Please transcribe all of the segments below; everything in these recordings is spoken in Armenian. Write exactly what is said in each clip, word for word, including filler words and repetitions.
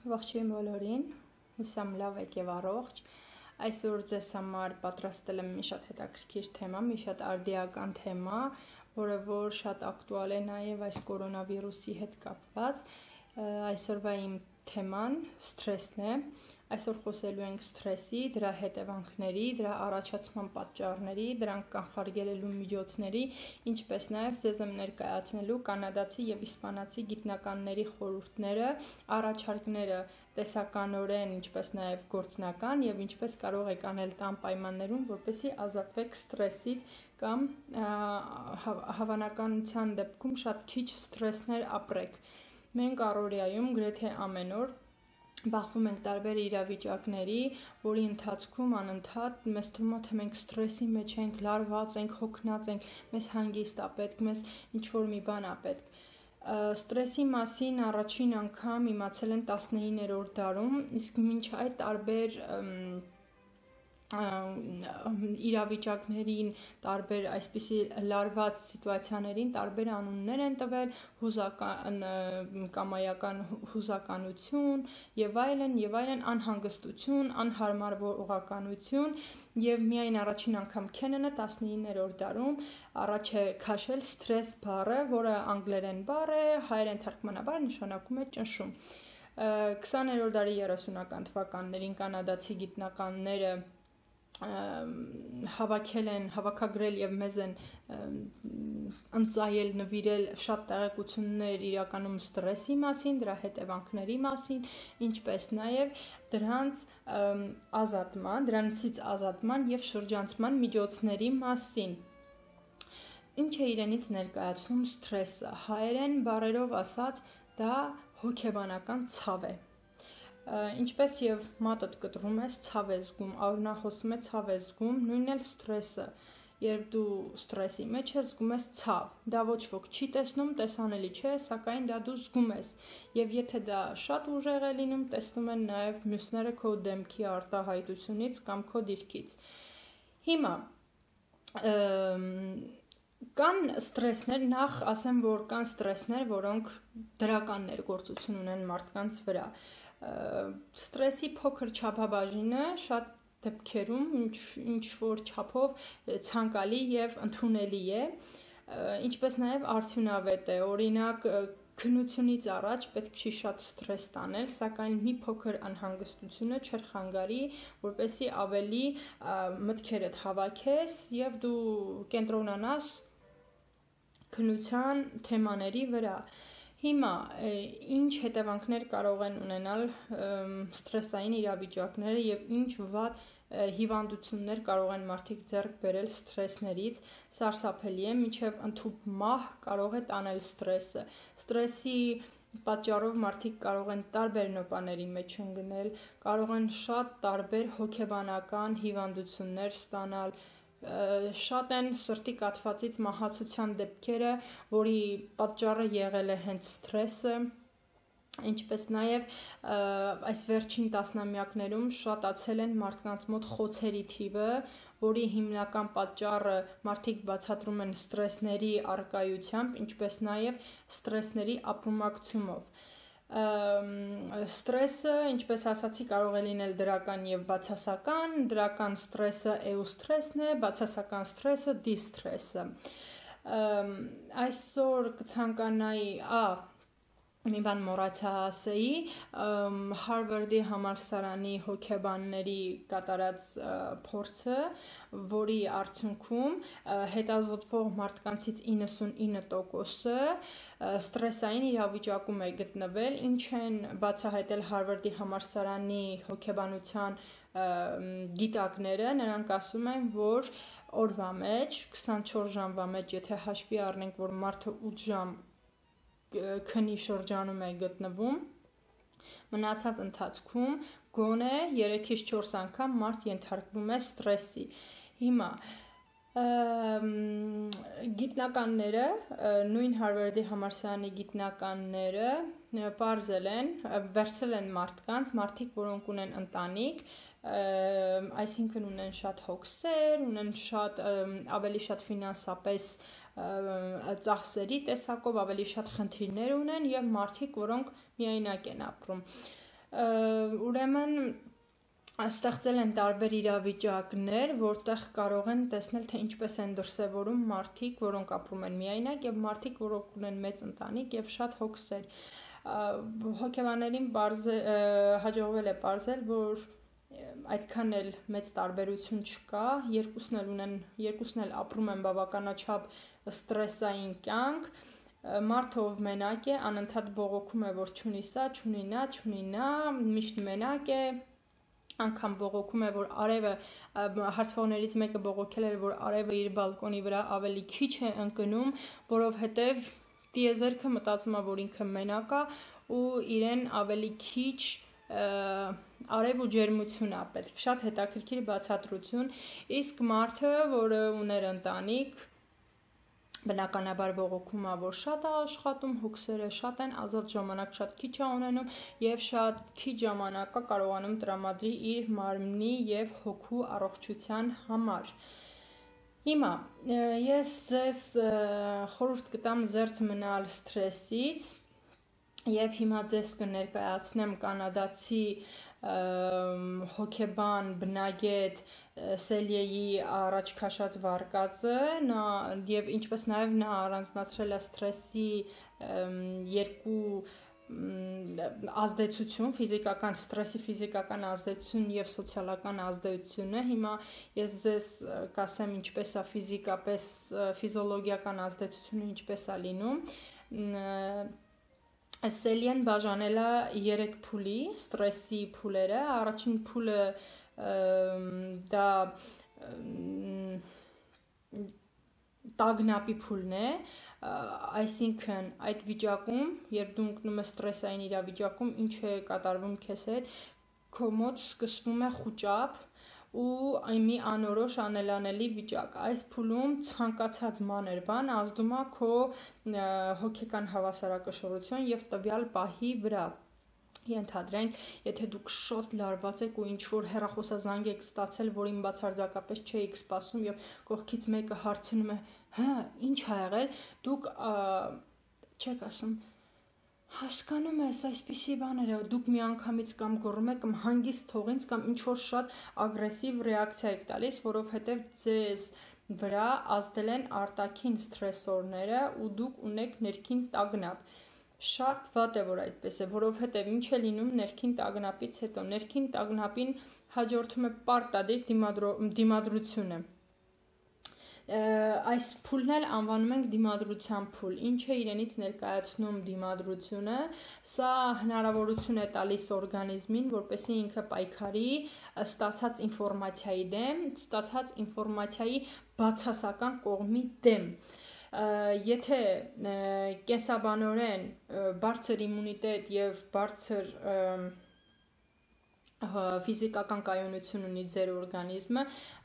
ողջույն բոլորին, հուսամ լավ եք եւ առողջ։ Այսօր ձեզ համար պատրաստել եմ մի շատ հետաքրքիր թեմա, մի շատ արդիական թեմա, որը որ շատ ակտուալ է նաեւ այս կորոնավիրուսի հետ կապված։ Այսօրվա իմ թեման սթրեսն է։ Այսօր խոսելու ենք սթրեսի, դրա հետևանքների, դրա առաջացման պատճառների, դրանք կանխարգելելու միջոցների, ինչպես նաև ձեզ եմ ներկայացնելու կանադացի եւ իսպանացի գիտնականների խորհուրդները, առաջարկները տեսականորեն, ինչպես նաև գործնական եւ ինչպես կարող եք անել տան պայմաններում, որպեսզի ազատվեք սթրեսից կամ հավանականության դեպքում շատ քիչ սթրեսներ ապրեք։ Մենք առօրյայում գրեթե ամեն օր բախվում ենք տարբեր իրավիճակների, որի ընթացքում անընդհատ մեզ թվում է, թե մենք սթրեսի մեջ ենք, լարված ենք, հոգնած ենք, մեզ հանգիստ է պետք, մեզ ինչ-որ մի բան է պետք։ Սթրեսի մասին առաջին անգամ իմացել են տասնիններորդ դարում, իսկ մինչ այդ տարբեր իրավիճակներին, տարբեր այսպիսի լարված սիտուացիաներին տարբեր անուններ են տվել, հուզական, կամայական հուզականություն եւ այլն եւ այլն, անհանգստություն, անհարմարողականություն եւ միայն առաջին անգամ Քեննանը տասնիններորդ դարում առաջ է քաշել սթրես բառը, որը անգլերեն բառ է, հայերեն թարգմանաբար նշանակում է ճնշում։ քսաներորդ դարի երեսունական թվականներին կանադացի գիտնականները հավաքել են, հավաքագրել եւ մեզ են ընծայել, նվիրել շատ տեղեկություններ իրականում սթրեսի մասին, դրա հետևանքների մասին, ինչպես նաեւ դրանց ազատման, դրանցից ազատման եւ շրջանցման միջոցների մասին։ Ինչ է իրենից ներկայացնում սթրեսը։ Հայերեն բառերով ասած, դա հոգեբանական ցավ է։ Ինչպես եւ մատդ կտրում ես, ցավ ես զգում, արունահոսում է ցավ ես զգում, նույնն էլ սթրեսը, երբ դու սթրեսի մեջ ես, զգում ես ցավ, դա ոչ ոք չի տեսնում, տեսանելի չէ, սակայն դա դու զգում ես, եւ եթե դա շատ ուժեղ է լինում, տեսնում են նաեւ մյուսները քո դեմքի արտահայտությունից կամ քո դիրքից։ Հիմա կան սթրեսներ, նախ ասեմ, որ կան սթրեսներ, որոնք դրական ներգործություն ունեն մարդկանց վրա։ Սթրեսի փոքր չափաբաժինը շատ դեպքերում ինչ որ չափով ցանկալի եւ ընդունելի է, ինչպես նաեւ արդյունավետ է։ Օրինակ քննությունից առաջ պետք չի շատ սթրես տանել, սակայն մի փոքր անհանգստությունը չխանգարի, որպեսզի ավելի մտքերդ հավաքես եւ դու կենտրոնանաս քննության թեմաների վրա։ Հիմա ինչ հետևանքներ կարող են ունենալ սթրեսային իրավիճակները եւ ինչ վատ հիվանդություններ կարող են մարդիկ ձեռք բերել սթրեսներից, սարսափելի է, մինչեւ ընդհուպ մահ կարող է տանել սթրեսը։ Սթրեսի պատճառով մարդիկ կարող են տարբեր նոպաների մեջ ընկնել, կարող են շատ տարբեր հոգեբանական հիվանդություններ ստանալ, շատ են սրտի կաթվածից մահացության դեպքերը, որի պատճառը եղել է հենց սթրեսը, ինչպես նաև այս վերջին տասնամյակներում շատացել են մարդկանց մոտ խոցերի թիվը, որի հիմնական պատճառը մարդիկ բացատրում են սթրեսների առկայությամբ, ինչպես նաև սթրեսների ապրումակցումով։ Սթրեսը, ինչպես ասացի, կարող է լինել դրական եւ բացասական, դրական սթրեսը էուստրեսն է, բացասական սթրեսը դիսթրեսը։ Այսօր կցանկանայի, ա, մի բան մոռացա ասեի, Հարվարդի համալսարանի հոգեբանների կատարած փորձը, որի արդյունքում հետազոտվող մարդկանցից իննսունինը տոկոսը սթրեսային իրավիճակում է գտնվել, ինչ են բացահայտել Հարվարդի համալսարանի հոգեբանության գիտակները, նրանք ասում են, որ օրվա մեջ, քսանչորս ժամվա մեջ, եթե հաշվի առնենք, որ մարդը ութ ժամ քնի շրջանում է գտնվում, մնացած ընթացքում գոնե երեքից չորս անգամ մարդ ենթարկվում է սթրեսի։ Հիմա գիտնականները, նույն Հարվարդի համալսարանի գիտնականները պարզել են, վերցրել են մարդկանց, մարդիկ, որոնք ունեն ընտանիք, այսինքն ունեն շատ հոգսեր, ունեն շատ ավելի շատ ֆինանսապես ծախսերի տեսակով ավելի շատ խնդիրներ ունեն եւ մարդիկ, որոնք միայնակ են ապրում։ Ուրեմն ստեղծել են տարբեր իրավիճակներ, որտեղ կարող են տեսնել, թե ինչպես են դրսևորում մարդիկ, որոնք ապրում են միայնակ, եւ մարդիկ, որոնք ունեն մեծ ընտանիք եւ շատ հոգսեր։ Հոգեբաններին հաջողվել է պարզել, որ այդքան էլ մեծ տարբերություն չկա, երկուսն էլ ունեն, երկուսն էլ ապրում են բավականաչափ ստրեսային կյանք, մարդը ով մենակ է, անընդհատ բողոքում է, որ չունի սա, չունի նա, չունի նա, միշտ մենակ է, անգամ բողոքում է, որ արևը, հարցվողներից մեկը բողոքել էր, որ արևը իր բալկոնի վրա ավելի քիչ է ընկնում, որովհետև տիեզերքը մտածում է, որ ինքը մենակ է ու իրեն ավելի քիչ արև ու ջերմություն է պետք, շատ հետաքրքիր բացատրություն, իսկ մարդը, որը ուներ ընտանիք, բնականաբար բողոքում է, որ շատ է աշխատում, հոգսերը շատ են, ազատ ժամանակ շատ քիչ է ունենում եւ շատ քիչ ժամանակ է կարողանում տրամադրի իր մարմնի եւ հոգու առողջության համար։ Հիմա ես ձեզ խորհուրդ կտամ զերծ մնալ սթրեսից եւ հիմա ձեզ կներկայացնեմ կանադացի հոգեբան, բնագետ Սելյեի առաջ քաշած վարկածը, նա եւ ինչպես նաեւ նա առանձնացրել է սթրեսի երկու ազդեցություն, ֆիզիկական սթրեսի ֆիզիկական ազդեցություն եւ սոցիալական ազդեցությունը։ Հիմա ես ձեզ կասեմ ինչպես է ֆիզիկապես ֆիզիոլոգիական ազդեցությունը ինչպես է լինում։ Սելյեն բաժանել է երեք փուլի, սթրեսի փուլերը, առաջին փուլը դա տագնապի փուլն է, այսինքն այդ վիճակում, երբ դու ընկնում ես ստրեսային իրավիճակում, ինչ է կատարվում քեզ հետ, քո մոտ սկսվում է խուճապ ու մի անորոշ անելանելի վիճակ։ Այս փուլում ցանկացած մանր բան ազդում է քո հոգեկան հավասարակշռություն եւ տվյալ պահի վրա։ Ենթադրենք, եթե դուք շատ լարված եք ու ինչ-որ հեռախոսազանգ եք ստացել, որին բացարձակապես չէիք սպասում եւ կողքից մեկը հարցնում է, հա, ինչ ա եղել, դուք չեք ասում, հասկանում ես, այսպիսի բաներ է, դուք միանգամից կամ գոռում եք, կամ հանգիստ թող ինձ, կամ ինչ-որ շատ ագրեսիվ ռեակցիա եք տալիս, որովհետեւ ձեզ վրա ազդել են արտաքին սթրեսորները ու դուք ունեք ներքին տագնապ։ Շատ վատ է, որ այդպես է, որովհետև ինչ է լինում ներքին տագնապից հետո, ներքին տագնապին հաջորդում է պարտադիր դիմադրությունը։ Այս փուլն էլ անվանում ենք դիմադրության փուլ, ինչ է իրենից ներկայացնում դիմադրությունը, սա հնարավորություն է տալիս օրգանիզմին, որպեսզի ինքը պայքարի ստացած ինֆորմացիայի դեմ, ստացած ինֆորմացիայի բացասական կողմի դեմ։ Եթե կենսաբանորեն բարձր իմունիտետ եւ բարձր ֆիզիկական կայունություն ունի ձեր օրգանիզմը,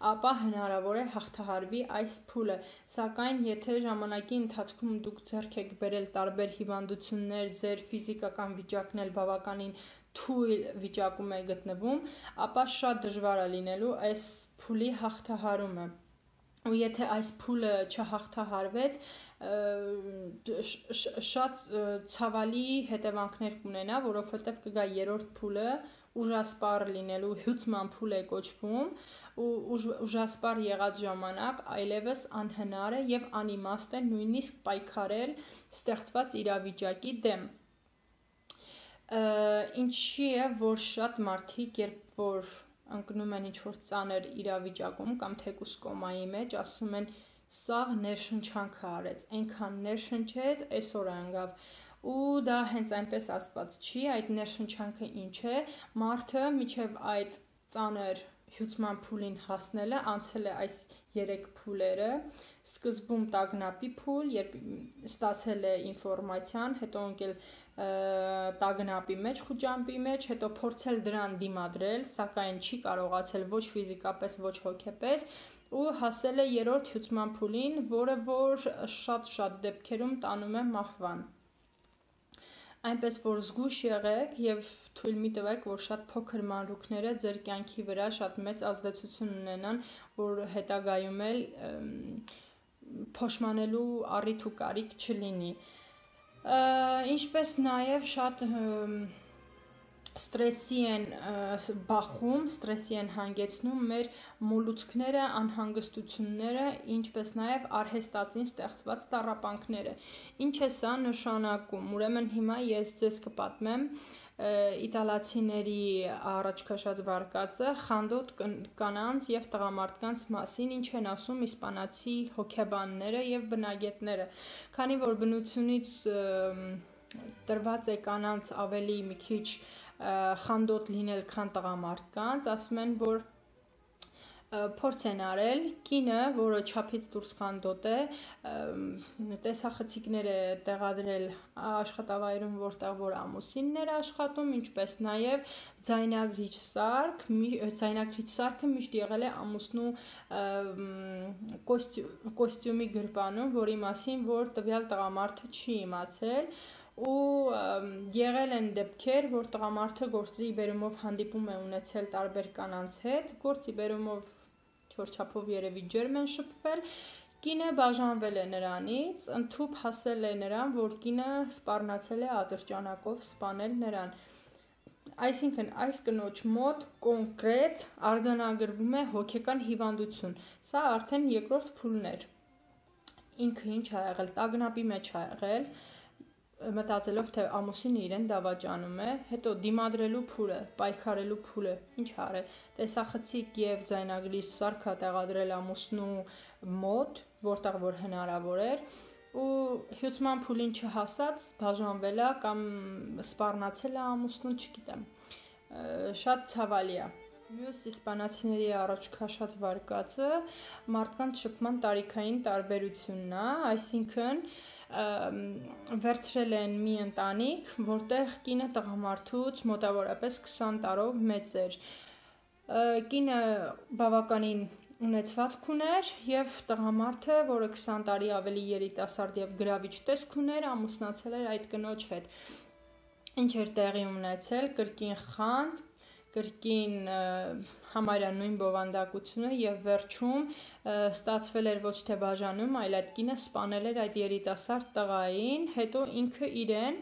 ապա հնարավոր է հաղթահարվի այս փուլը, սակայն եթե ժամանակի ընթացքում դուք ձեռք եք բերել տարբեր հիվանդություններ, ձեր ֆիզիկական վիճակն էլ բավականին թույլ վիճակում է գտնվում, ապա շատ դժվար է լինելու այս փուլի հաղթահարումը։ Ու եթե այս փուլը չհաղթահարվեց, շատ ցավալի հետևանքներ կունենա, որովհետև կգա երրորդ փուլը, ուժասպառ լինելու հյուծման փուլ է կոչվում, ու ուժասպառ եղած ժամանակ այլևս անհնար է եւ անիմաստ է նույնիսկ պայքարել ստեղծված իրավիճակի դեմ։ Ինչի է, որ շատ մարդիկ, երբ որ ընկնում են ինչ-որ ծանր իրավիճակում կամ թեկուզ կոմայի մեջ, ասում են սա ներշնչանքը արեց, այնքան ներշնչեց, այսօր անգավ, ու դա հենց այնպես ասված չի, այդ ներշնչանքը ինչ է, մարդը միջև այդ ծանր հյուծման փուլին հասնելը անցել է այս երեք փուլերը, սկզբում տագնապի փուլ, երբ ստացել է ինֆորմացիան, հետո ընկել տագնապի մեջ, խուճամփի մեջ, հետո փորձել դրան դիմադրել, սակայն չի կարողացել ոչ ֆիզիկապես, ոչ հոգեպես, ու հասել է երրորդ հյուծման փուլին, որը որ շատ-շատ դեպքերում տանում է մահվան։ Այնպես որ զգույշ եղեք եւ թույլ մի տվեք, որ շատ փոքր մանրուքները ձեր կյանքի վրա շատ մեծ ազդեցություն ունենան, որ հետագայում էլ փոշմանելու առիթ ու կարիք չլինի։ Ինչպես նաեւ շատ ստրեսի են բախում, ստրեսի են հանգեցնում մեր մոլուցքները, անհանգստությունները, ինչպես նաև արհեստածին ստեղծված տառապանքները։ Ինչ է սա նշանակում։ Ուրեմն հիմա ես ձեզ կպատմեմ իտալացիների առաջ քաշած վարկածը խանդոտ կանանց եւ տղամարդկանց մասին, ինչ են ասում իսպանացի հոգեբանները եւ բնագետները, քանի որ բնությունից տրված է կանանց ավելի մի քիչ խանդոտ լինել, քան տղամարդկանց, ասում են, որ փորձ են արել, կինը, որը չափից դուրս խանդոտ է, տեսախցիկներ է տեղադրել աշխատավայրում, որտեղ որ ամուսինն էր աշխատում, ինչպես նաև ձայնագրիչ սարք, ձայնագրիչ սարքը միշտ եղել է ամուսնու կոստյումի գրպանում, որի մասին որ տվյալ տղամարդը չի իմացել, ու եղել են դեպքեր, որ տղամարդը գործի բերումով հանդիպում է ունեցել տարբեր կանանց հետ, գործի բերումով չորչափով երևի ջերմ են շփվել, կինը բաժանվել է նրանից, ընդհուպ հասել է նրան, որ կինը սպառնացել է ատրճանակով սպանել նրան։ Այսինքն այս կնոջ մոտ կոնկրետ արձանագրվում է հոգեկան հիվանդություն, սա արդեն երկրորդ փուլն էր, ինքը ինչ ա եղել, տագնապի մեջ ա եղել, մտածելով, թե ամուսինը իրեն դավաճանում է, հետո դիմադրելու փուլը, պայքարելու փուլը, ինչ արել, տեսախցիկ եւ ձայնագրիչ սարք տեղադրել ամուսնու մոտ, որտեղ որ հնարավոր էր, ու հյուծման փուլին չհասած բաժանվել է կամ սպառնացել է ամուսնուն, չգիտեմ, շատ ցավալի է։ Մյուս իսպանացիների առաջ քաշած վարկածը մարդկանց շփման տարիքային տարբերությունն է, այսինքն վերցրել են մի ընտանիք, որտեղ կինը տղամարդուց մոտավորապես քսան տարով մեծ էր, կինը բավականին ունեցվածք ուներ եւ տղամարդը, որը քսան տարի ավելի երիտասարդ եւ գրավիչ տեսք ուներ, ամուսնացել էր այդ կնոջ հետ։ Ինչ էր տեղի ունեցել, կրկին խանդ, կրկին համարյա նույն բովանդակությունը եւ վերջում ստացվել էր ոչ թե բաժանում, այլ այդ կինը սպանել էր այդ երիտասարդ տղային, հետո ինքը իրեն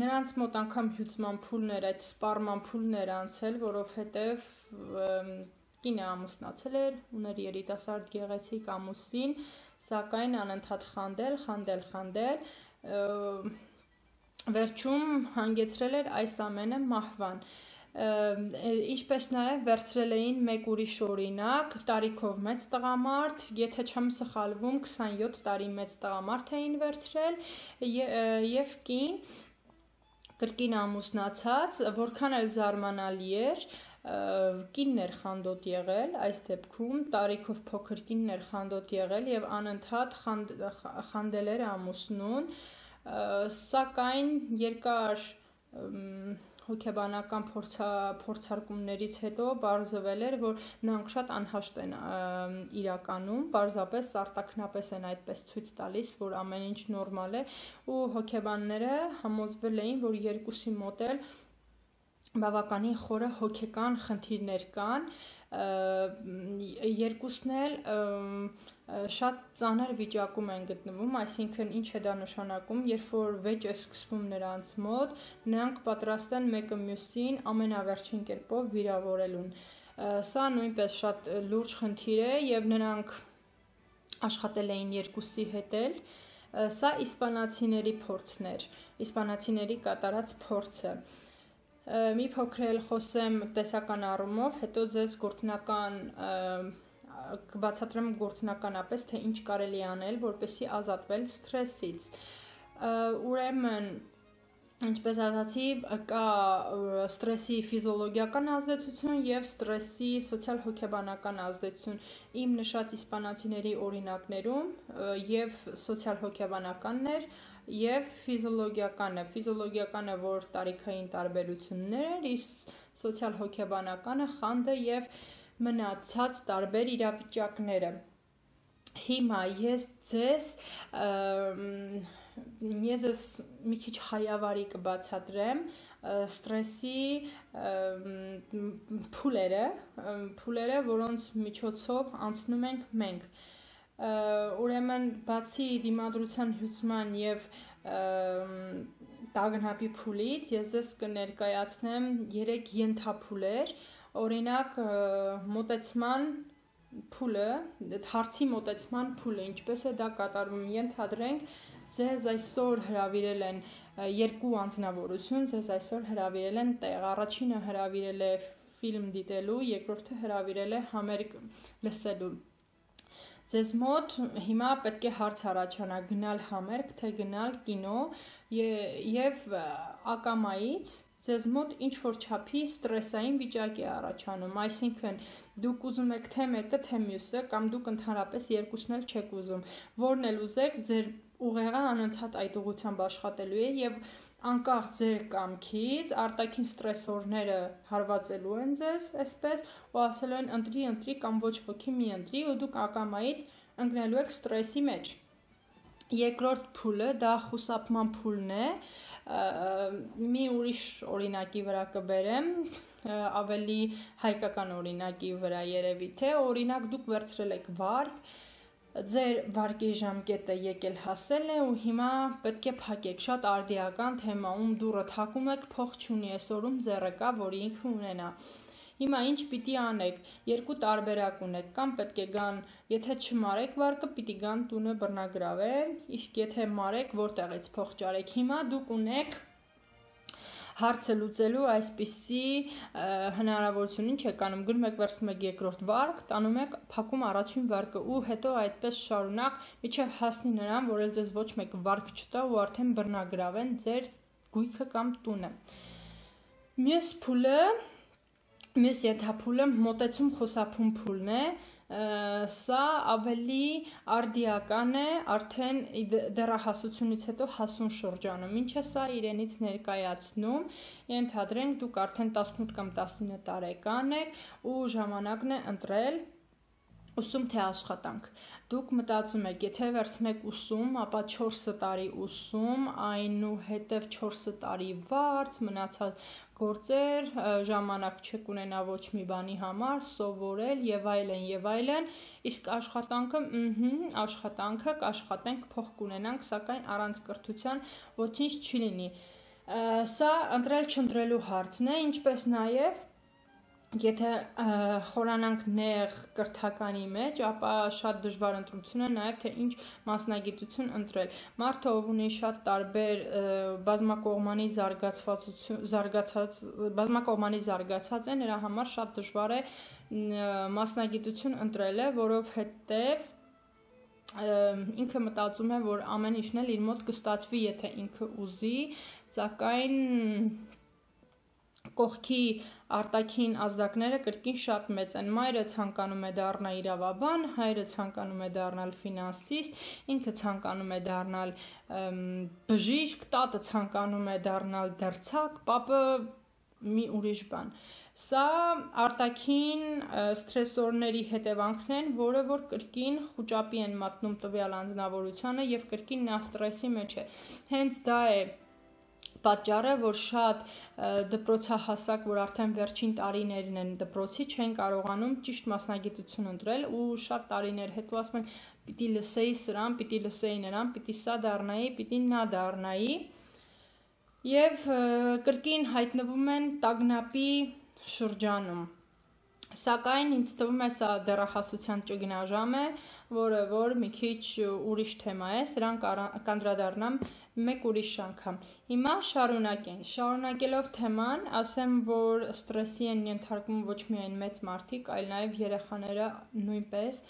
նրանց մոտ անգամ հյուծման փուլն էր, այդ սպառման փուլն էր անցել, որովհետեւ կինը ամուսնացել էր, ուներ երիտասարդ գեղեցիկ ամուսին, սակայն անընդհատ խանդել, խանդել, խանդել վերջում հանգեցրել էր այս ամենը մահվան, ինչպես նաև վերցրել էին մեկ ուրիշ օրինակ, տարիքով մեծ տղամարդ, եթե չեմ սխալվում, քսանյոթ տարի մեծ տղամարդ էին վերցրել եւ կին, կրկին ամուսնացած, որքան էլ զարմանալի էր, կինն էր խանդոտ եղել, այս դեպքում տարիքով փոքր կինն էր խանդոտ եղել եւ անընդհատ խանդել էր ամուսնուն, սակայն երկար հոգեբանական փորձարկումներից հետո պարզվել էր, որ նրանք շատ անհաշտ են իրականում, պարզապես արտաքնապես են այդպես ցույց տալիս, որ ամեն ինչ նորմալ է, ու հոգեբանները համոզվել էին, որ երկուսի մոտ էլ բավականին խորը հոգեկան խնդիրներ կան, երկուսն էլ շատ ծանր վիճակում են գտնվում, այսինքն ինչ է դա նշանակում, երբ որ վեճ է սկսվում նրանց մոտ, նրանք պատրաստ են մեկը մյուսին ամենավերջին կերպով վիրավորելուն։ Սա նույնպես շատ լուրջ խնդիր է եւ նրանք աշխատել էին երկուսի հետ էլ, սա իսպանացիների փորձն էր, իսպանացիների կատարած փորձը։ Մի փոքր էլ խոսեմ տեսական առումով, հետո ձեզ գործնական կբացատրեմ գործնականապես, թե ինչ կարելի անել, որպեսզի ազատվել սթրեսից։ Ուրեմն, ինչպես ասացի, կա սթրեսի ֆիզիոլոգիական ազդեցություն եւ սթրեսի սոցիալ-հոգեբանական ազդեցություն։ Իմ նշած իսպանացիների օրինակներում եւ սոցիալ-հոգեբանականն էր, եւ ֆիզիոլոգիականը, ֆիզիոլոգիականը, որ տարիքային տարբերություններ էր, իսկ սոցիալ-հոգեբանականը խանդը եւ մնացած տարբեր իրավիճակները։ Հիմա ես ձեզ ես ձեզ մի քիչ հայավարի կբացատրեմ սթրեսի փուլերը, փուլերը, որոնց միջոցով անցնում ենք մենք։ Ուրեմն բացի դիմադրության հյուծման եւ տագնապի փուլից ես ձեզ կներկայացնեմ երեք ենթափուլեր, օրինակ մոտեցման փուլը, հարցի մոտեցման փուլը, ինչպես է դա կատարվում, ենթադրենք ձեզ այսօր հրավիրել են երկու անձնավորություն, ձեզ այսօր հրավիրել են տեղ, առաջինը հրավիրել է ֆիլմ դիտելու, երկրորդը հրավիրել է համերգ լսելու։ Ձեզ մոտ հիմա պետք է հարց առաջանա գնալ համերգ, թե գնալ կինո եւ ակամայից ձեզ մոտ ինչ-որ չափի ստրեսային վիճակ է առաջանում, այսինքն դուք ուզում եք թե մեկը, թե մյուսը, կամ դուք ընդհանրապես երկուսն էլ չեք ուզում, որն էլ ուզեք, ձեր ուղեղը անընդհատ այդ ուղղությամբ աշխատելու է եւ անկախ ձեր կամքից արտաքին ստրեսորները հարվածելու են ձեզ, այսպես, ու ասելու են ընտրի, ընտրի կամ ոչ ոքի մի ընտրի, ու դուք ակամայից ընկնելու եք ստրեսի մեջ։ Երկրորդ փուլը դա խուսափման փուլն է, մի ուրիշ օրինակի վրա կբերեմ, ավելի հայկական օրինակի վրա երևի թե, օրինակ դուք վերցրել եք վարկ, ձեր վարկի ժամկետը եկել հասել է ու հիմա պետք է փակեք, շատ արդիական թեմա, ում դուռը թակում եք, փող չունի, այսօրում ձեռը կա, որի ինքը ունենա։ Հիմա ինչ պիտի անեք, երկու տարբերակ ունեք, կամ պետք է գան, եթե չմարեք վարկը, պիտի գան տունը բռնագրավեն, իսկ եթե մարեք, որտեղից փող ճարեք, հիմա դուք ունեք հարցը լուծելու այսպիսի հնարավորություն, ինչ եք անում, գնում եք վերցնում եք երկրորդ վարկ, տանում եք փակում առաջին վարկը ու հետո այդպես շարունակ, մինչև հասնի նրան, որ էլ ձեզ ոչ մեկ վարկ չտա ու արդեն բռնագրավեն ձեր գույքը կամ տունը։ Մյուս փուլը, մյուս ենթափուլը մոտեցում խուսափում փուլն է, սա ավելի արդիական է արդեն դեռահասությունից հետո հասուն շրջանում, ինչ է սա իրենից ներկայացնում, ենթադրենք դուք արդեն տասնութ կամ տասնինը տարեկան եք ու ժամանակն է ընտրել ուսում թե աշխատանք։ Դուք մտածում եք, եթե վերցնեք ուսում, ապա չորս տարի ուսում, այնուհետև չորս տարի վարձ, մնացած գործեր, ժամանակ չեք ունենա ոչ մի բանի համար, սովորել եւ այլն եւ այլն, իսկ աշխատանքը, ըհը, աշխատանքը կաշխատենք, փող կունենանք, սակայն առանց կրթության ոչինչ չի լինի։ Սա ընտրել չընտրելու հարցն է, ինչպես նաեւ եթե խորանանք նեղ կրթականի մեջ, ապա շատ դժվար ընտրություն է նաև թե ինչ մասնագիտություն ընտրել։ Մարդը ով ունի շատ տարբեր բազմակողմանի զարգացվածություն, զարգացած, բազմակողմանի զարգացած է, նրա համար շատ դժվար է մասնագիտություն ընտրելը, որովհետև ինքը մտածում է, որ ամեն ինչն էլ իր մոտ կստացվի, եթե ինքը ուզի, սակայն կողքի արտաքին ազդակները կրկին շատ մեծ են, մայրը ցանկանում է դառնալ իրավաբան, հայրը ցանկանում է դառնալ ֆինանսիստ, ինքը ցանկանում է դառնալ բժիշկ, տատը ցանկանում է դառնալ դերձակ, պապը մի ուրիշ բան։ Սա արտաքին ստրեսորների հետևանքն են, որը որ կրկին խուճապի են մատնում տվյալ անձնավորությանը եւ կրկին նա ստրեսի մեջ է։ Հենց դա է պատճառը, որ շատ դպրոցահասակ, որ արդեն վերջին տարիներն են դպրոցի, չեն կարողանում ճիշտ մասնագիտություն ընտրել ու շատ տարիներ հետո ասում են պիտի լսեի սրան, պիտի լսեի նրան, պիտի սա դառնայի, պիտի նա դառնայի եւ կրկին հայտնվում են տագնապի շրջանում։ Սակայն ինձ թվում է սա դեռահասության ճգնաժամ է, որը որ մի քիչ ուրիշ թեմա է, սրան կանդրադառնամ մեկ ուրիշ անգամ։ Հիմա շարունակենք, շարունակելով թեման, ասեմ, որ ստրեսի են ենթարկվում ոչ միայն մեծ մարդիկ, այլ նաև երեխաները նույնպես,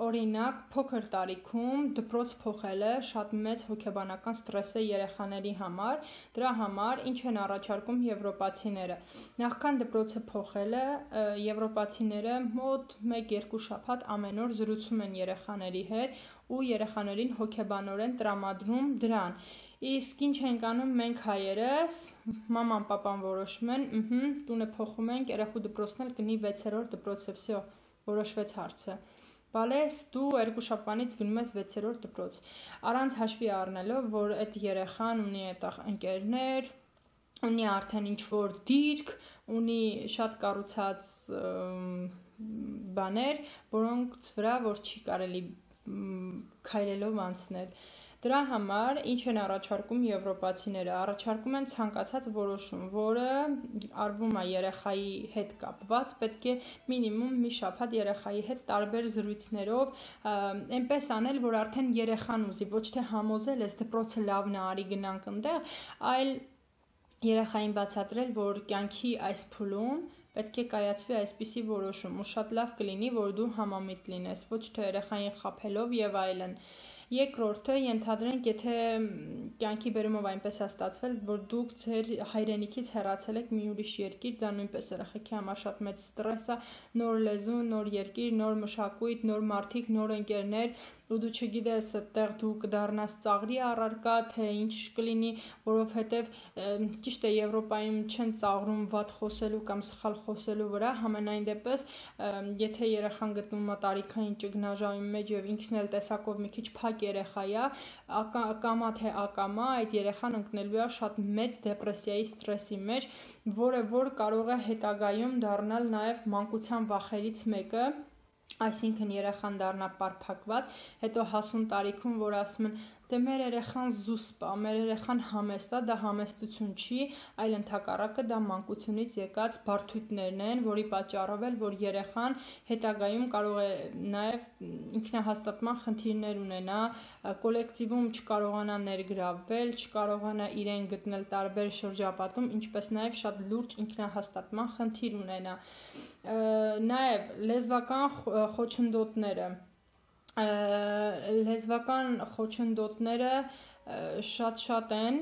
օրինակ փոքր տարիքում դպրոց փոխելը շատ մեծ հոգեբանական ստրես է երեխաների համար, դրա համար ինչ են առաջարկում եվրոպացիները։ Նախքան դպրոցը փոխելը եվրոպացիները մոտ մեկ-երկու շաբաթ ամեն օր զրուցում են երեխաների հետ ու երեխաներին հոգեբանորեն տրամադրում դրան։ Իսկ ինչ ենք անում մենք հայերս, մաման, պապան որոշում են, ըհը, տունը փոխում ենք, երեխու դպրոցն էլ կնի վեցերորդ դպրոցը, վсё, որոշվեց հարցը։ Բալես դու երկու շաբթվանից գնում ես վեցերորդ դպրոց։ Առանց հաշվի առնելով, որ այդ երեխան ունի այդտեղ ընկերներ, ունի արդեն ինչ-որ դիրք, ունի շատ կառուցած բաներ, որոնց վրա որ չի կարելի քայլելով անցնել։ Դրա համար ինչ են առաջարկում եվրոպացիները, առաջարկում են ցանկացած որոշում, որը արվում է երեխայի հետ կապված, պետք է մինիմում մի շաբաթ երեխայի հետ տարբեր զրույցներով այնպես անել, որ արդեն երեխան ուզի, ոչ թե համոզել ես դպրոցը լավն է, արի գնանք այնտեղ, այլ երեխային բացատրել, որ կյանքի այս փուլում պետք է կայացվի այսպիսի որոշում, ու շատ լավ կլինի, որ դու համամիտ լինես, ոչ թե երեխային խաբելով եւ այլն։ Երկրորդը ենթադրենք, եթե կյանքի բերումով այնպես է ստացվել, որ դուք ձեր հայրենիքից հեռացել եք մի ուրիշ երկիր, դա նույնպես երեխեքի համար շատ մեծ ստրես է, նոր լեզու, նոր երկիր, նոր մշակույթ, նոր մարդիկ, նոր ընկերներ, ու դու չգիտես այդտեղ դու կդառնաս ծաղրի առարկա, թե ինչ կլինի, որովհետև ճիշտ է Եվրոպայում չեն ծաղրում վատ խոսելու կամ սխալ խոսելու վրա, համենայն դեպս, եթե երեխան գտնվում է տարիքային ճգնաժամի մեջ եւ ինքն էլ տեսակով մի քիչ փակ երեխա է, ակամա թե ակամա այդ երեխան ընկնելու է շատ մեծ դեպրեսիայի ստրեսի մեջ, որը որ կարող է հետագայում դառնալ նաեւ մանկության վախերից մեկը, այսինքն երեխան դառնա պարփակված, հետո հասուն տարիքում, որ ասում են, դե մեր երեխան զուսպ է, մեր երեխան համեստ է, դա համեստություն չի, այլ ընդհակառակը դա մանկությունից եկած բարդույթներն են, որի պատճառով էլ, որ երեխան հետագայում կարող է նաև ինքնահաստատման խնդիրներ ունենա, կոլեկտիվում չկարողանա ներգրավվել, չկարողանա իրեն գտնել տարբեր շրջապատում, ինչպես նաև շատ լուրջ ինքնահաստատման խնդիր ունենա։ Նաև լեզվական խոչընդոտները Լեզվական խոչընդոտները շատ-շատ են,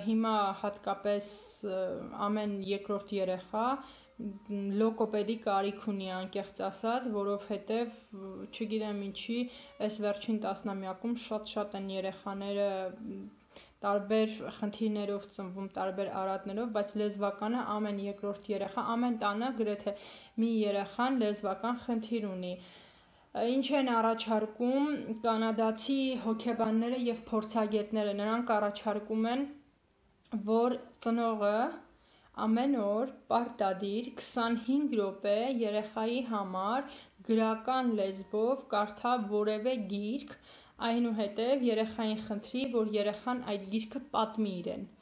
հիմա հատկապես ամեն երկրորդ երեխա լոգոպեդի կարիք ունի անկեղծ ասած, որովհետև չգիտեմ ինչի, այս վերջին տասնամյակում շատ-շատ են երեխաները տարբեր խնդիրներով ծնվում, տարբեր արատներով, բայց լեզվականը ամեն երկրորդ երեխա, ամեն տանը գրեթե մի երեխան լեզվական խնդիր ունի։ Ինչ են առաջարկում կանադացի հոգեբանները եւ փորձագետները, նրանք առաջարկում են, որ ծնողը ամեն օր պարտադիր քսանհինգ րոպե երեխայի համար գրական լեզվով կարդա որևէ գիրք, այնուհետև երեխային խնդրի, որ երեխան այդ գիրքը պատմի իրեն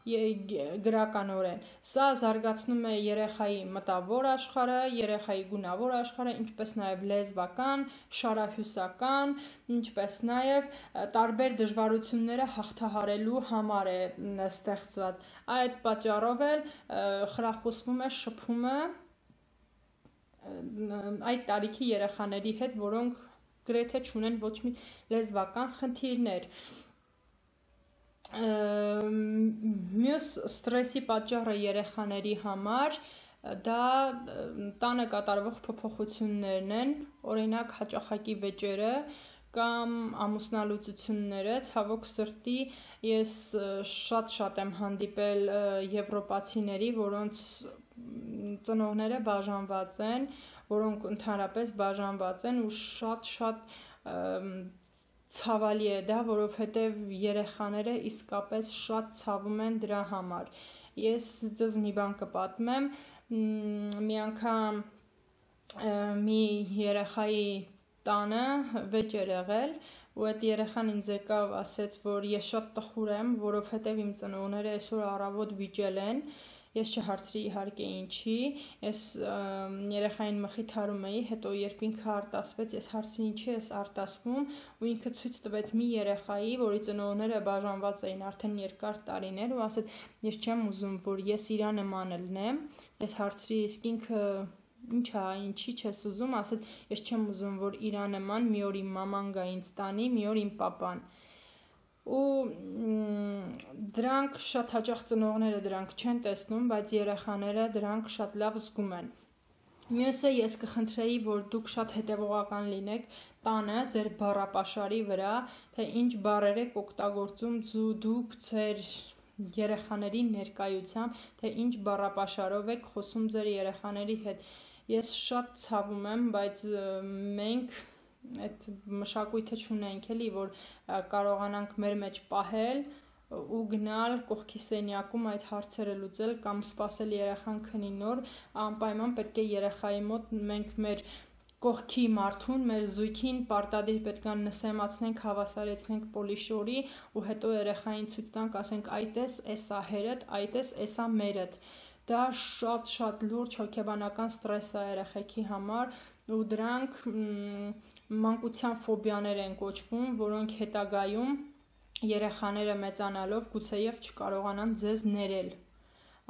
գրականորեն։ Սա զարգացնում է երեխայի մտավոր աշխարհը, երեխայի գունավոր աշխարհը, ինչպես նաև լեզվական, շարահյուսական, ինչպես նաև տարբեր դժվարությունները հաղթահարելու համար է ստեղծված։ Այդ պատճառով էլ խրախուսվում է շփումը այդ տարիքի երեխաների հետ, որոնք գրեթե չունեն ոչ մի լեզվական խնդիրներ։ Մյուս ստրեսի պատճառը երեխաների համար դա տանը կատարվող փոփոխություններն են, օրինակ հաճախակի վեճերը կամ ամուսնալուծությունները, ցավոք սրտի ես շատ-շատ եմ հանդիպել եվրոպացիների, որոնց ծնողները բաժանված են, որոնք ընդհանրապես բաժանված են ու շատ-շատ ցավալի է դա, որովհետև երեխաները իսկապես շատ ցավում են դրա համար։ Ես ձեզ մի բան կպատմեմ, մի անգամ մի երեխայի տանը վեճ էր եղել, ու այդ երեխան ինձ եկավ ասեց, որ ես շատ տխուր եմ, որովհետև իմ ծնողները այսօր առավոտ վիճել են, ես չհարցրի իհարկե ինչի, ես երեխային մխիթարում էի, հետո երբ ինքը արտասվեց, ես հարցրի ինչի ես արտասվում, ու ինքը ցույց տվեց մի երեխայի, որի ծնողները բաժանված էին արդեն երկար տարիներ, ու ասեց, ես չեմ ուզում, որ ես իրա նման լինեմ, ես հարցրի, իսկ ինքը ինչ է, ինչի չես ուզում, ասեց, ես չեմ ուզում, որ իրա նման մի օր իմ մաման գա ինձ տանի, մի օր իմ պապան։ Ու դրանք շատ հաճախ ծնողները դրանք չեն տեսնում, բայց երեխաները դրանք շատ լավ զգում են։ Մյուսը ես կխնդրեի, որ դուք շատ հետևողական լինեք տանը ձեր բառապաշարի վրա, թե ինչ բառեր եք օգտագործում դուք ձեր երեխաների ներկայությամբ, թե ինչ բառապաշարով եք խոսում ձեր երեխաների հետ։ Ես շատ ցավում եմ, բայց մենք այդ մշակույթը չունենք էլի, որ կարողանանք մեր մեջ պահել ու գնալ կողքի սենյակում այդ հարցերը լուծել կամ սպասել երեխան քնի նոր, անպայման պետք է երեխայի մոտ մենք մեր կողքի մարդուն, մեր զույգին պարտադիր պետք է նսեմացնենք, հավասարեցնենք պոլիշորի ու հետո երեխային ցույց տանք, ասենք այդ էս, էսա հերդ, այդ էս, էսա մերդ։ Դա շատ-շատ լուրջ հոգեբանական ստրես է երեխեքի համար ու դրանք մանկության ֆոբիաներ են կոչվում, որոնք հետագայում երեխաները մեծանալով գուցեև չկարողանան ձեզ ներել։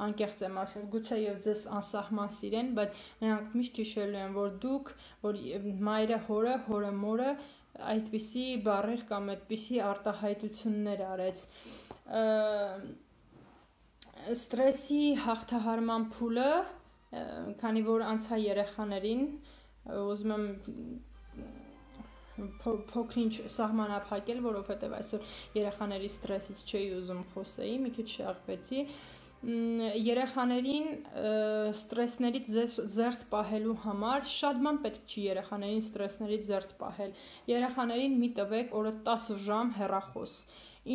Անկեղծ եմ ասել, գուցեև ձեզ անսահման սիրեն, բայց նրանք միշտ հիշելու են, որ դուք, որ մայրը հորը, հորը մորը այդպիսի բառեր կամ այդպիսի արտահայտություններ արեց։ Ստրեսի հաղթահարման փուլը, քանի որ անցա երեխաներին, ուզում եմ փոքրինչ սահմանափակել, որովհետև այսօր երեխաների ստրեսից չէի ուզում խոսեի, մի քիչ շեղվեցի։ Երեխաներին ստրեսներից զերծ պահելու համար շատ բան պետք չի երեխաներին ստրեսներից զերծ պահել։ Երեխաներին մի տվեք օրը տասը ժամ հեռախոս։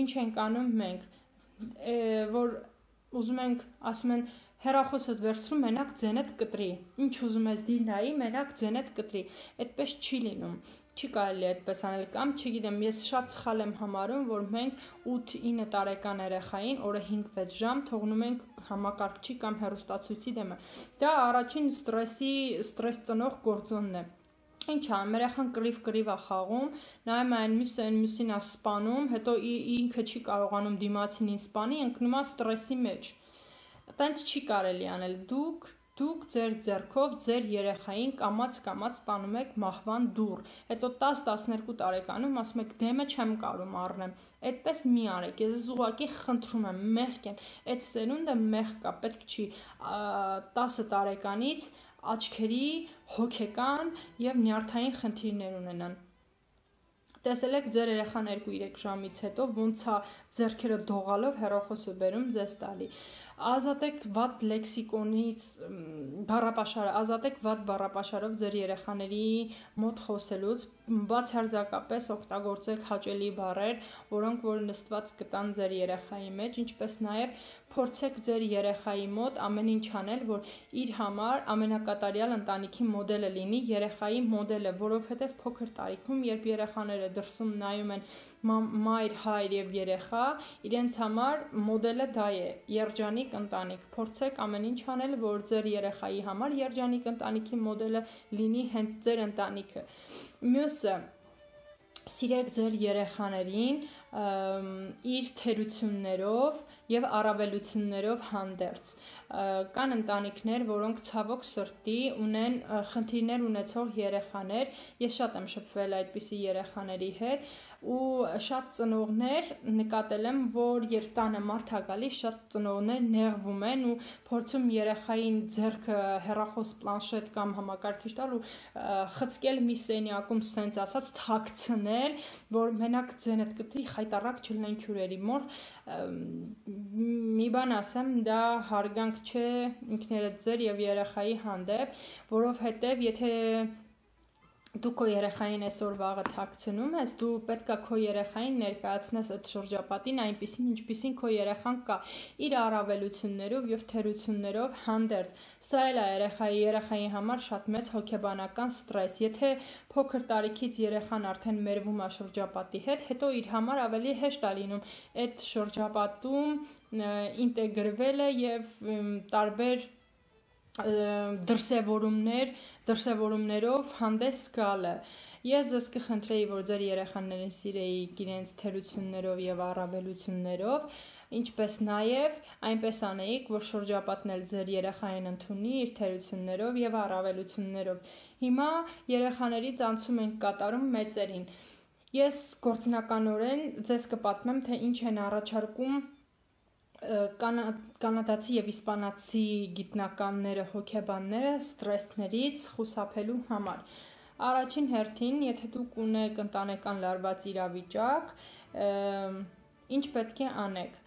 Ինչ ենք անում մենք, որ ուզում ենք, ասում են հեռախոսդ վերցրու, մենակ ձենդ կտրի։ Ինչ ուզում ես դի նայի, մենակ ձենդ կտրի։ Այդպես չի լինում։ Չի կարելի այդպես անել կամ չգիտեմ, ես շատ սխալ եմ համարում, որ մենք ութ-ինը տարեկան երեխային օրը հինգ-վեց ժամ թողնում ենք համակարգչի կամ հեռուստացույցի դեմը։ Դա առաջին ստրեսի, ստրես ծնող գործոնն է։ Ինչ ա, մեր երեխան կռիվ-կռիվ է խաղում, նայում այն մյուսը այն մյուսին է սպանում, հետո ինքը չի կարողանում դիմացինին սպանի, ընկնում է ստրեսի մեջ։ Այդպես չի կարելի անել։ Դուք Դուք ձեր ձեռքով ձեր երեխային կամաց-կամաց տանում եք մահվան դուռ, հետո տաս-տասներկու տարեկանում ասում եք դեմը չեմ կարում առնեմ, այդպես մի արեք, ես ուղղակի խնդրում եմ, մեղք են, այդ սերունդը մեղք կա, պետք չի տասը տարեկանից աչքերի, հոգեկան և նյարդային խնդիրներ ունենան։ Տեսել եք ձեր երեխան երկու-երեք ժամից հետո ոնց է ձեռքերը դողալով հեռախոսը բերում ձեզ տալի։ Ազատեք վատ լեքսիկոնից բառապաշարը, ազատեք վատ բառապաշարով ձեր երեխաների մոտ խոսելուց, բացարձակապես օգտագործեք հաճելի բառեր, որոնք որ նստված կտան ձեր երեխայի մեջ, ինչպես նաև փորձեք ձեր երեխայի մոտ ամեն ինչ անել, որ իր համար ամենակատարյալ ընտանիքի մոդելը լինի, երեխայի մոդելը, որովհետև փոքր տարիքում, երբ երեխաները դրսում նայում են մայր, հայր և երեխա, իրենց համար մոդելը դա է, երջանիկ ընտանիք, փորձեք ամեն ինչ անել, որ ձեր երեխայի համար երջանիկ ընտանիքի մոդելը լինի հենց ձեր ընտանիքը։ Մյուսը, սիրեք ձեր երեխաներին իր թերություններով և առավելություններով հանդերձ։ Կան ընտանիքներ, որոնք ցավոք սրտի ունեն խնդիրներ ունեցող երեխաներ, ես շատ եմ շփվել այդպիսի երեխաների հետ, ու շատ ծնողներ նկատել եմ, որ երբ տանը մարդ է գալիս, շատ ծնողներ նեղվում են ու փորձում երեխային ձեռքը հեռախոս, պլանշետ կամ համակարգիչ տալ ու խցկել մի սենյակում սենց ասած թաքցնել, որ մենակ ձենդ կտրի, խայտառակ չլինենք հյուրերի մոտ։ Մի բան ասեմ, դա հարգանք չէ ինքներդ ձեր և երեխայի հանդեպ, որովհետև եթե դու քո երեխային այսօր վաղը թաքցնում ես, դու պետք է քո երեխային ներկայացնես այդ շրջապատին այնպիսին, ինչպիսին քո երեխան կա, իր առավելություններով և թերություններով հանդերձ։ Սա էլ է երեխայի, երեխայի համար շատ մեծ հոգեբանական ստրես։ Եթե փոքր տարիքից երեխան արդեն մերվում է շրջապատի հետ, հետո իր համար ավելի հեշտ է լինում այդ շրջապատում ինտեգրվելը և տարբեր դրսևորումներ, դրսևորումներով հանդես գալը։ Ես ձեզ կխնդրեի, որ ձեր երեխաներին սիրեիք իրենց թերություններով և առավելություններով, ինչպես նաև այնպես անեիք, որ շրջապատն էլ ձեր երեխային ընդունի իր թերություններով և առավելություններով։ Հիմա երեխաներից անցում ենք կատարում մեծերին։ Ես գործնականորեն ձեզ կպատմեմ, թե ինչ են առաջարկում կանադացի և իսպանացի գիտնականները, հոգեբանները ստրեսներից խուսափելու համար։ Առաջին հերթին, եթե դուք ունեք ընտանեկան լարված իրավիճակ, ինչ պետք է անեք։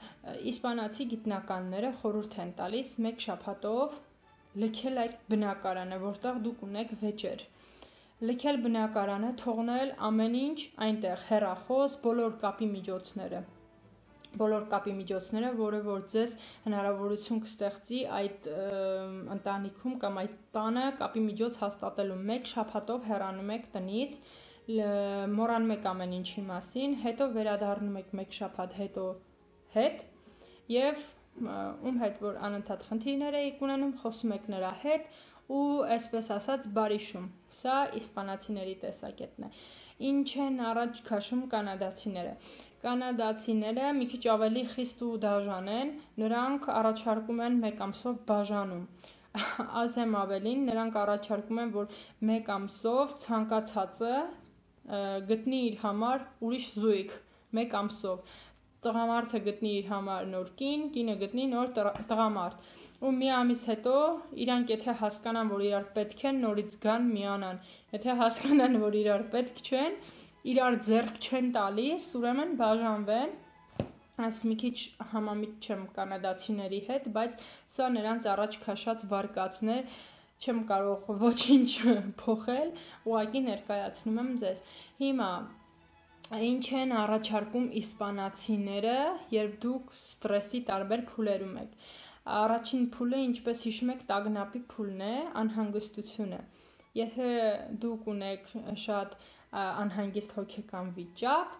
Իսպանացի գիտնականները խորհուրդ են տալիս մեկ շաբաթով լքել այդ բնակարանը, որտեղ դուք ունեք վեճեր։ Լքել բնակարանը, թողնել ամեն ինչ այնտեղ, հեռախոս, բոլոր կապի միջոցները։ բոլոր կապի միջոցները, որը որ ձեզ հնարավորություն կստեղծի այդ ընտանիքում կամ այդ տանը կապի միջոց հաստատելու։ Մեկ շաբաթով հեռանում եք տնից, մոռանում եք ամեն ինչի մասին, հետո վերադառնում եք մեկ շաբաթ հետո հետ եւ ում հետ որ անընդհատ խնդիրներ եք ունենում, խոսում եք նրա հետ ու այսպես ասած բարիշում։ Սա իսպանացիների տեսակետն է։ Ինչ են առաջ քաշում կանադացիները։ Կանադացիները մի քիչ ավելի խիստ ու դաժան են, նրանք առաջարկում են մեկ ամսով բաժանում։ Ասեմ ավելին, նրանք առաջարկում են, որ մեկ ամսով ցանկացածը գտնի իր համար ուրիշ զույգ, մեկ ամսով։ Տղամարդը գտնի իր համար նոր կին, կինը գտնի նոր տղամարդ։ Ու մի ամիս հետո իրանք եթե հասկանան, որ իրար պետք են, նորից գան միանան։ Եթե հասկանան, որ իրար պետք չեն, իրար ձեռք չեն տալիս, ուրեմն բաժանվեն։ Այս մի քիչ համամիտ չեմ կանադացիների հետ, բայց սա նրանց առաջ քաշած վարկածներ, չեմ կարող ոչինչ փոխել, ուղղակի ներկայացնում եմ ձեզ։ Հիմա ինչ են առաջարկում իսպանացիները, երբ դուք ստրեսի տարբեր փուլերում եք։ Առաջին փուլը, ինչպես հիշում եք, տագնապի փուլն է, անհանգստությունը։ Եթե դուք ունեք շատ անհանգիստ հոգեկան վիճակ,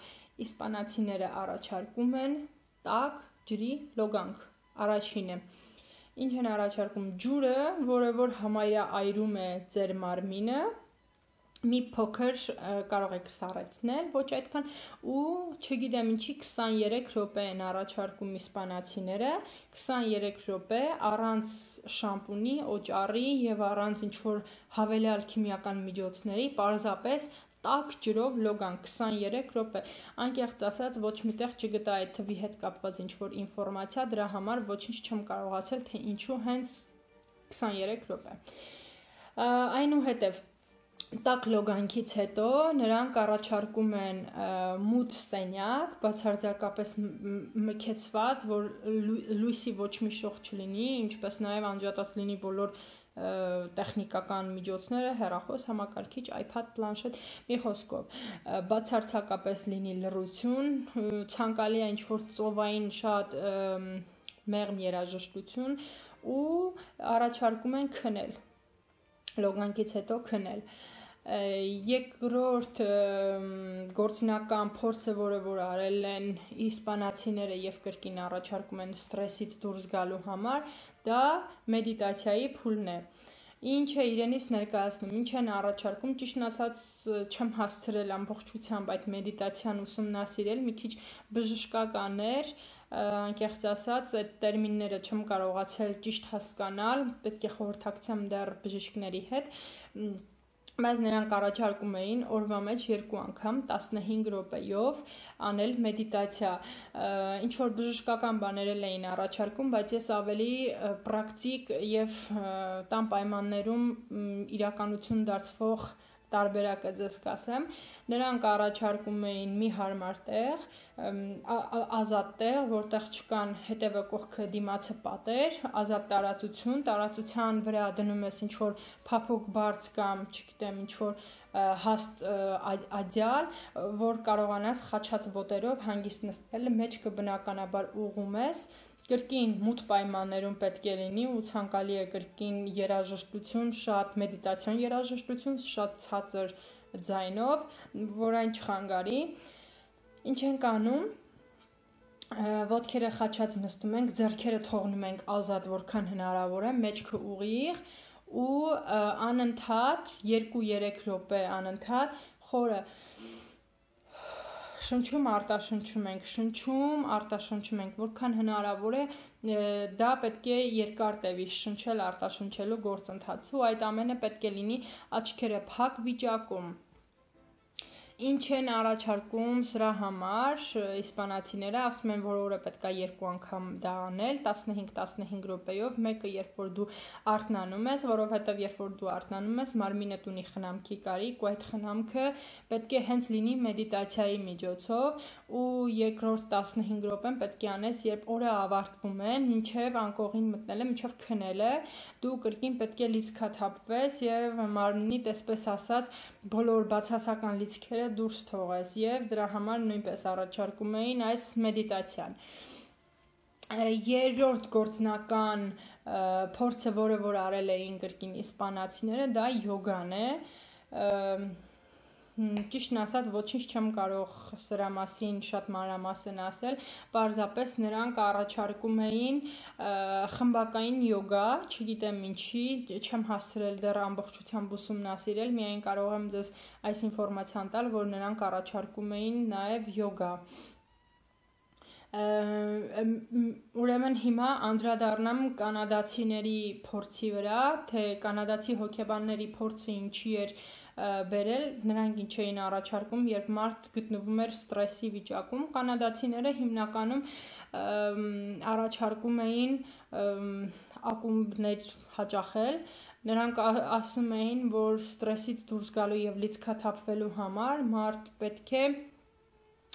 իսպանացիները առաջարկում են տաք ջրի լոգանք։ Առաջինը։ Ինչ են առաջարկում ջուրը, որը որ համարյա այրում է ձեր մարմինը, մի փոքր կարող եք սառեցնել, ոչ այդքան, ու չգիտեմ ինչի քսաներեք րոպե են առաջարկում իսպանացիները, քսաներեք րոպե առանց շամպունի, օճառի եւ առանց ինչ-որ հավելյալ քիմիական միջոցների, պարզապես տաք ջրով լոգանք քսաներեք րոպե։ Անկեղծ ասած, ոչ միտեղ չգտա այդ թվի հետ կապված ինչ-որ ինֆորմացիա, դրա համար ոչինչ չեմ կարողացել, թե ինչու հենց քսաներեք րոպե։ Այնուհետև տաք լոգանքից հետո նրանք առաջարկում են մութ սենյակ, բացարձակապես մքեցված, որ լույսի ոչ մի շող չլինի, ինչպես նաև անջատած լինի բոլոր տեխնիկական միջոցները, հեռախոս, համակարգիչ, iPad, պլանշետ, մի խոսքով, բացարձակապես լինի լռություն, ցանկալի է ինչ-որ ծովային շատ մեղմ երաժշտություն ու առաջարկում են քնել, լոգանքից հետո քնել։ Երկրորդ գործնական փորձը, որը որ արել են իսպանացիները եւ կրկին առաջարկում են ստրեսից դուրս գալու համար, դա մեդիտացիայի փուլն է։ Ինչ է իրենից ներկայացնում, ինչ են առաջարկում, ճիշտն ասած չեմ հասցրել ամբողջությամբ այդ մեդիտացիան ուսումնասիրել, մի քիչ բժշկական էր, անկեղծ ասած այդ տերմինները չեմ կարողացել ճիշտ հասկանալ, պետք է խորհրդակցեմ դեռ բժիշկների հետ, բայց նրանք առաջարկում էին օրվա մեջ երկու անգամ տասնհինգ րոպեով անել մեդիտացիա, ինչ որ բժշկական բաներ էին առաջարկում, բայց ես ավելի պրակտիկ եւ տան պայմաններում իրականություն դարձվող տարբերակը ձեզ կասեմ, նրանք առաջարկում էին մի հարմար տեղ, ազատ տեղ, որտեղ չկան հետևը կողքը դիմացը պատեր, ազատ տարածություն, տարածության վրա դնում ես ինչ-որ փափուկ բարձ կամ, չգիտեմ, ինչ-որ հաստ ադյալ, որ կարողանաս խաչած ոտերով հանգիստ նստել, մեջքը բնականաբար ուղում ես, կրկին մութ պայմաններում պետք է լինի ու ցանկալի է կրկին երաժշտություն, շատ մեդիտացիոն երաժշտություն, շատ ցածր ձայնով, որ այն չխանգարի։ Ինչ ենք անում, ոտքերը խաչած նստում ենք, ձեռքերը թողնում ենք ազատ, որքան հնարավոր է, մեջքը ուղիղ ու անընդհատ երկու-երեք րոպե անընդհատ խորը շնչում արտաշնչում ենք, շնչում արտաշնչում ենք, որքան հնարավոր է, դա պետք է երկար տևի շնչել արտաշնչելու գործընթացը ու այդ ամենը պետք է լինի աչքերը փակ վիճակում։ Ինչ են առաջարկում սրա համար, իսպանացիները ասում են, որ օրը պետք է երկու անգամ դա անել, տասնհինգ-տասնհինգ րոպեով, մեկը երբ որ դու արթնանում ես, որովհետև երբ որ դու արթնանում ես, մարմինդ ունի խնամքի կարիք ու այդ խնամքը պետք է հենց լինի մեդիտացիայի միջոցով ու երկրորդ տասնհինգ րոպեն պետք է անես, երբ օրը ավարտվում է, մինչև անկողին մտնելը, մինչև քնելը, դու կրկին պետք է լիցքաթափվես եւ մարմնիդ, այսպես ասած, բոլոր բացասական լիցքերը մտքերը դուրս թողես եւ դրա համար նույնպես առաջարկում էին այս մեդիտացիան։ Երրորդ գործնական փորձը, որը որ արել էին կրկին իսպանացիները, դա յոգան է։ Ճիշտն ասած, ոչինչ չեմ կարող սրա մասին շատ մանրամասն ասել, պարզապես նրանք առաջարկում էին խմբակային յոգա, չգիտեմ ինչի, չեմ հասցրել դեռ ամբողջությամբ ուսումնասիրել, միայն կարող եմ ձեզ այս ինֆորմացիան տալ, որ նրանք առաջարկում էին նաև յոգա։ Ուրեմն հիմա անդրադառնամ կանադացիների փորձի վրա, թե կանադացի հոգեբանների փորձը ինչի էր բերել, նրանք ինչ էին առաջարկում, երբ մարդ գտնվում էր ստրեսի վիճակում, կանադացիները հիմնականում առաջարկում էին ակումբներ հաճախել, նրանք ասում էին, որ ստրեսից դուրս գալու եւ լիցքաթափվելու համար մարդ պետք է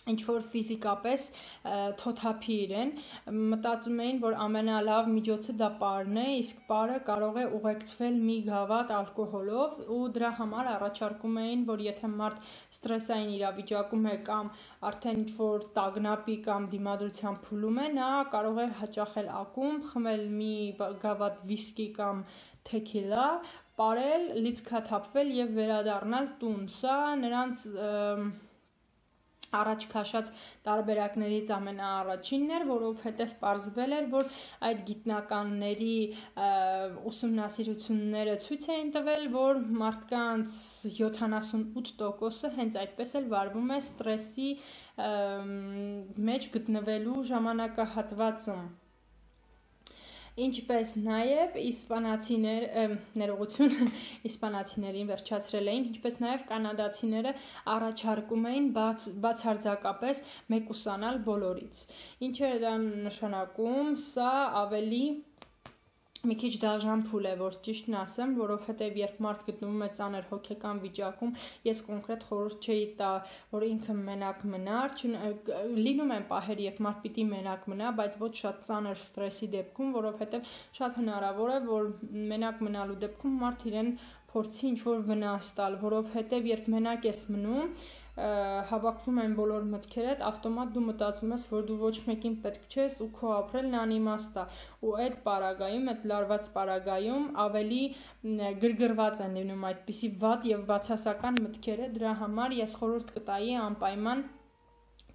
ինչ-որ ֆիզիկապես թոթափի իրեն, մտածում էին, որ ամենալավ միջոցը դա պարն է, իսկ պարը կարող է ուղեկցվել մի գավաթ ալկոհոլով ու դրա համար առաջարկում էին, որ եթե մարդ ստրեսային իրավիճակում է կամ արդեն ինչ-որ տագնապի կամ դիմադրության փուլում է, նա կարող է հաճախել ակումբ, խմել մի գավաթ վիսկի կամ թեքիլա, պարել, լիցքաթափվել եւ վերադառնալ տուն։ Սա նրանց առաջ քաշած տարբերակներից ամենաառաջինն էր, որովհետև պարզվել էր, որ այդ գիտնականների ուսումնասիրությունները ցույց էին տվել, որ մարդկանց յոթանասունութ տոկոսը հենց այդպես էլ վարվում է ստրեսի մեջ գտնվելու ժամանակահատվածում։ Ինչպես նաև իսպանացիներ, ներողություն, իսպանացիներին վերջացրել էին, ինչպես նաև կանադացիները առաջարկում էին բաց, բացարձակապես մեկուսանալ բոլորից։ Ինչ է դա նշանակում, սա ավելի մի քիչ դաժան փուլ է, որ ճիշտն ասեմ, որովհետև երբ մարդ գտնվում է ծանր հոգեկան վիճակում, ես կոնկրետ խորհուրդ չէի տա, որ ինքը մենակ մնար, լինում են պահեր, երբ մարդ պիտի մենակ մնա, բայց ոչ շատ ծանր ստրեսի դեպքում, որովհետև շատ հնարավոր է, որ մենակ մնալու դեպքում մարդ իրեն փորձի ինչ-որ վնաս տալ, որովհետև երբ մենակ ես մնում, հավաքվում են բոլոր մտքերդ, ավտոմատ դու մտածում ես, որ դու ոչ մեկին պետք չես ու քո ապրելն անիմաստ է, ու այդ պարագայում, այդ լարված պարագայում ավելի գրգռված են լինում այդպիսի վատ եւ բացասական մտքերը, դրա համար ես խորհուրդ կտայի անպայման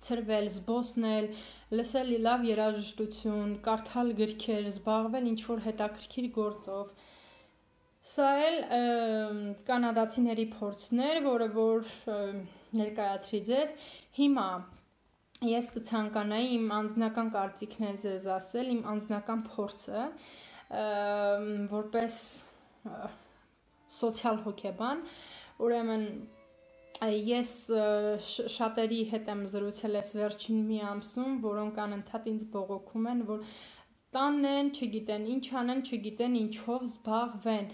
ցրվել, զբոսնել, լսել լավ երաժշտություն, կարդալ գրքեր, զբաղվել ինչ-որ հետաքրքիր գործով։ Սա էլ կանադացիների փորձն էր, որը որ ներկայացրի ձեզ։ Հիմա ես կցանկանայի իմ անձնական կարծիքն էլ ձեզ ասել, իմ անձնական փորձը, որպես սոցիալ հոգեբան, ուրեմն ես շատերի հետ եմ զրուցել այս վերջին մի ամսում, որոնք անընդհատ ինձ բողոքում են, որ տանն են, չգիտեն ինչ անեն, չգիտեն ինչով զբաղվեն։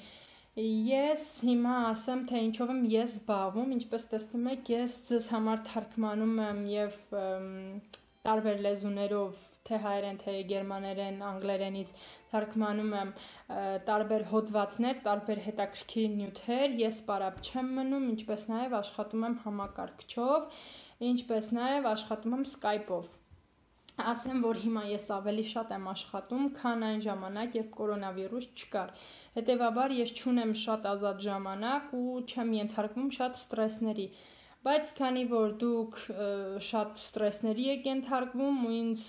Ես հիմա ասեմ, թե ինչով եմ ես զբաղվում, ինչպես տեսնում եք, ես ձեզ համար թարգմանում եմ եւ տարբեր լեզուներով, թե հայերեն, թե գերմաներեն, անգլերենից թարգմանում եմ տարբեր հոդվածներ, տարբեր հետաքրքիր նյութեր, ես պարապ չեմ մնում, ինչպես նաեւ աշխատում եմ համակարգչով, ինչպես նաեւ աշխատում եմ Skype-ով։ Ասեմ, որ հիմա ես ավելի շատ եմ աշխատում, քան այն ժամանակ, երբ կորոնավիրուս չկար։ Հետևաբար ես չունեմ շատ ազատ ժամանակ ու չեմ ենթարկվում շատ ստրեսների։ Բայց քանի որ դուք շատ ստրեսների եք ենթարկվում ու ինձ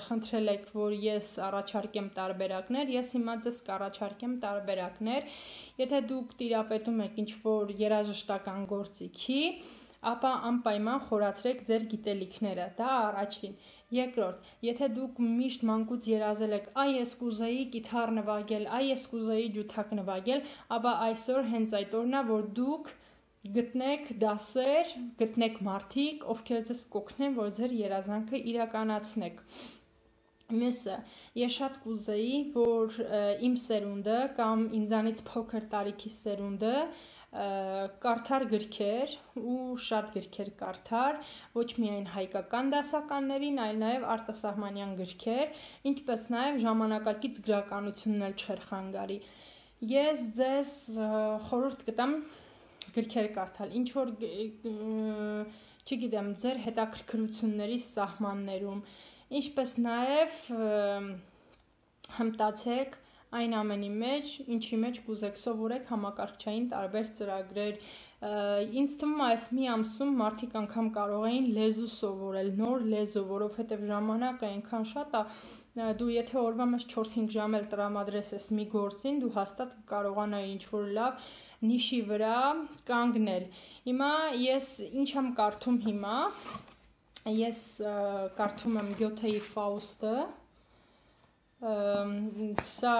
խնդրել եք, որ ես առաջարկեմ տարբերակներ, ես հիմա ձեզ կառաջարկեմ տարբերակներ։ Եթե դուք տիրապետում եք ինչ-որ երաժշտական գործիքի, ապա անպայման խորացրեք ձեր գիտելիքները, դա առաջին։ Երկրորդ, եթե դուք միշտ մանկուց երազել եք, այ ես կուզեի կիթառ նվագել, այ ես կուզեի ջութակ նվագել, ապա այսօր հենց այդ օրն է, որ դուք գտնեք դասեր, գտնեք մարդիկ, ովքեր ձեզ կօգնեն, որ ձեր երազանքը իրականացնեք։ Մյուսը, ես շատ կուզեի, որ իմ սերունդը կամ ինձանից փոքր տարիքի սերունդը կարդար գրքեր ու շատ գրքեր կարդար, ոչ միայն հայկական դասականներին, այլ նաև արտասահմանյան գրքեր, ինչպես նաև ժամանակակից գրականությունն էլ չէր խանգարի։ Ես ձեզ խորհուրդ կտամ գրքեր կարդալ, ինչ որ չգիտեմ, ձեր հետաքրքրությունների սահմաններում, ինչպես նաև հմտացեք այն ամենի մեջ, ինչի մեջ կուզեք, սովորեք համակարգչային տարբեր ծրագրեր։ Ինձ թվում է այս մի ամսում մարդիկ անգամ կարող էին լեզու սովորել, նոր լեզու, որովհետև ժամանակը այնքան շատ է, դու եթե օրվա մեջ չորս-հինգ ժամ էլ տրամադրես ես մի գործին, դու հաստատ կարողանայի ինչ-որ լավ նիշի վրա կանգնել։ Հիմա ես ինչ եմ կարդում հիմա, ես կարդում եմ Գյոթեի Ֆաուստը, սա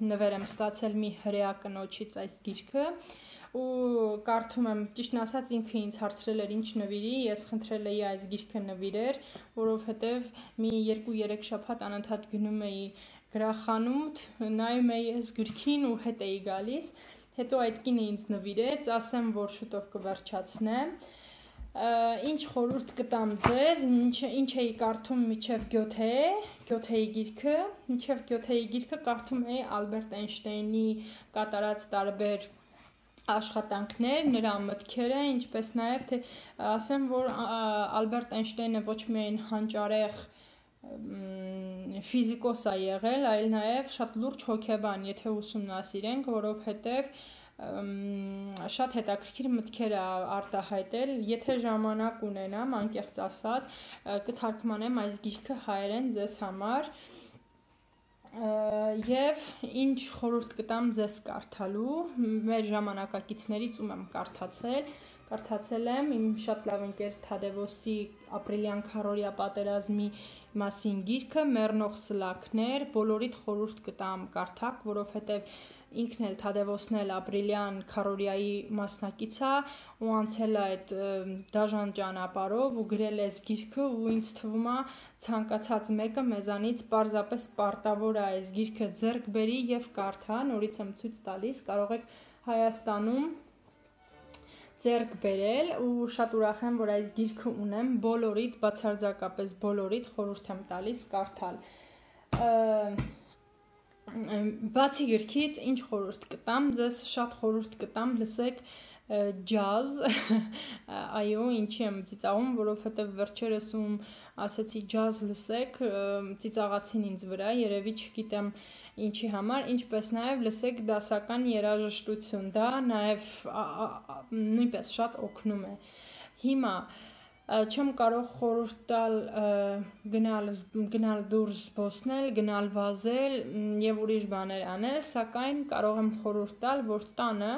նվեր եմ ստացել մի հրեա կնոջից այս գիրքը, ու կարդում եմ, ճիշտն ասած ինքը ինձ հարցրել էր ինչ նվիրի, ես խնդրել էի այս գիրքը նվիրեր, որովհետև մի երկու-երեք շաբաթ անընդհատ գնում էի գրախանութ, նայում էի այս գրքին ու հետ էի գալիս, հետո այդ կինը ինձ նվիրեց, ասեմ, որ շուտով կվերջացնեմ, ինչ խորհուրդ կտամ ձեզ, ինչ էի կարդում մինչև Գյոթե, Գյոթեի գիրքը, մինչև Գյոթեի գիրքը կարդում էի Ալբերտ Էյնշտեյնի կատարած տարբեր աշխատանքներ, նրա մտքերը, ինչպես նաև թե ասեմ, որ Ալբերտ Էյնշտեյնը ոչ միայն հանճարեղ ֆիզիկոս է եղել, այլ նաև շատ լուրջ հոգեբան, եթե ուսումնասիրենք, որովհետև շատ հետաքրքիր մտքեր է արտահայտել, եթե ժամանակ ունենամ, անկեղծ ասած, կթարգմանեմ այս գիրքը հայերեն ձեզ համար և ինչ խորհուրդ կտամ ձեզ կարդալու, մեր ժամանակակիցներից ում եմ կարդացել, կարդացել եմ իմ շատ լավ ընկեր Թադևոսի ապրիլյան քառօրյա պատերազմի մասին գիրքը, մեռնող սլաքներ, բոլորիդ խորհուրդ կտամ կարդաք, որովհետև ինքն էլ Թադևոսն էլ ապրիլյան քառօրյայի մասնակից է ու անցել է այդ դաժան ճանապարհով ու գրել է այս գիրքը ու ինձ թվում է ցանկացած մեկը մեզանից պարզապես պարտավոր է այս գիրքը ձեռք բերի եւ կարդա, նորից եմ ցույց տալիս, կարող եք Հայաստանում ձեռք բերել ու շատ ուրախ եմ, որ այս գիրքը ունեմ, բոլորիդ, բացարձակապես բոլորիդ խորհուրդ եմ տալիս կարդալ։ Բացի գրքից ինչ խորհուրդ կտամ, ձեզ շատ խորհուրդ կտամ, լսեք ջազ, այո, ինչի եմ ծիծաղում, որովհետև վերջերս ում ասեցի ջազ լսեք, ծիծաղացին ինձ վրա, երևի չգիտեմ ինչի համար, ինչպես նաև լսեք դասական երաժշտություն, դա նաև նույնպես շատ օգնում է։ Հիմա չեմ կարող խորհուրդ տալ գնալ, գնալ դուրս զբոսնել, գնալ վազել և ուրիշ բաներ անել, սակայն կարող եմ խորհուրդ տալ, որ տանը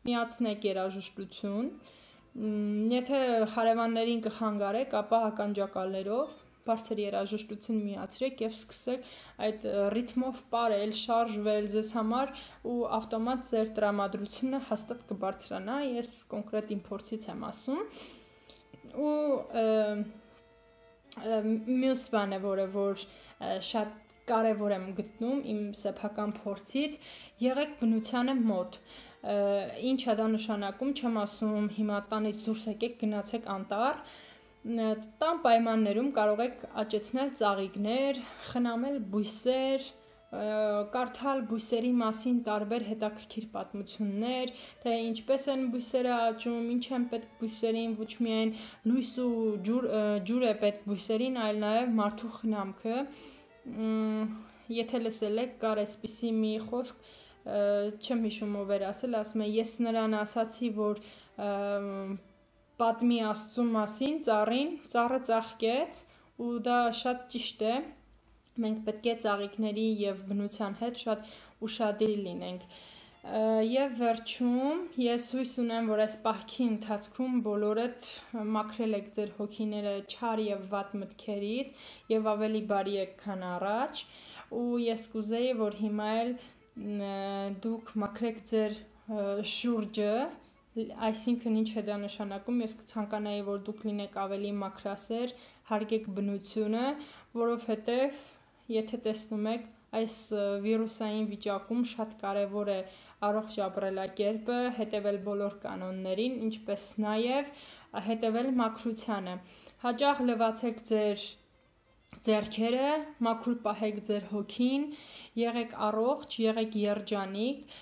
միացնեք երաժշտություն, եթե հարևաններին կխանգարեք, ապա ականջակալներով բարձր երաժշտություն միացրեք և սկսեք այդ ռիթմով պարել, շարժվել ձեզ համար ու ավտոմատ ձեր տրամադրությունը հաստատ կբարձրանա, ես կոնկրետ իմ փորձից եմ ասում ու մյուս բանը, որը որ շատ կարևոր եմ գտնում իմ սեփական փորձից, եղեք բնությանը մոտ, ինչ է դա նշանակում, չեմ ասում հիմա տանից դուրս եկեք գնացեք անտառ, տան պայմաններում կարող եք աճեցնել ծաղիկներ, խնամել բույսեր, կարդալ բույսերի մասին տարբեր հետաքրքիր պատմություններ, թե ինչպես են բույսերը աճում, ինչ են պետք բույսերին, ոչ միայն լույս ու ջուր, ջուր է պետք բույսերին, այլ նաև մարդու խնամքը, եթե լսել եք, կար այսպիսի մի խոսք, չեմ հիշում ով էր ասել, ասում է, ես նրան ասացի, որ պատմի Աստծու մասին ծառին, ծառը ծաղկեց ու դա շատ ճիշտ է, մենք պետք է ծաղիկների և բնության հետ շատ ուշադիր լինենք։ Եվ վերջում ես հույս ունեմ, որ այս պահքի ընթացքում բոլորդ մաքրել եք ձեր հոգիները չար և վատ մտքերից և ավելի բարի եք, քան առաջ, ու ես կուզեի, որ հիմա էլ դուք մաքրեք ձեր շուրջը, այսինքն ինչ է դա նշանակում, ես կցանկանայի, որ դուք լինեք ավելի մաքրասեր, հարգեք բնությունը, որովհետև եթե տեսնում եք, այս վիրուսային վիճակում շատ կարևոր է առողջ ապրելակերպը, հետևել բոլոր կանոններին, ինչպես նաև հետևել մաքրությանը։ Հաճախ լվացեք ձեր ձեռքերը, մաքուր պահեք ձեր հոգին, եղեք առողջ, եղեք երջանիկ,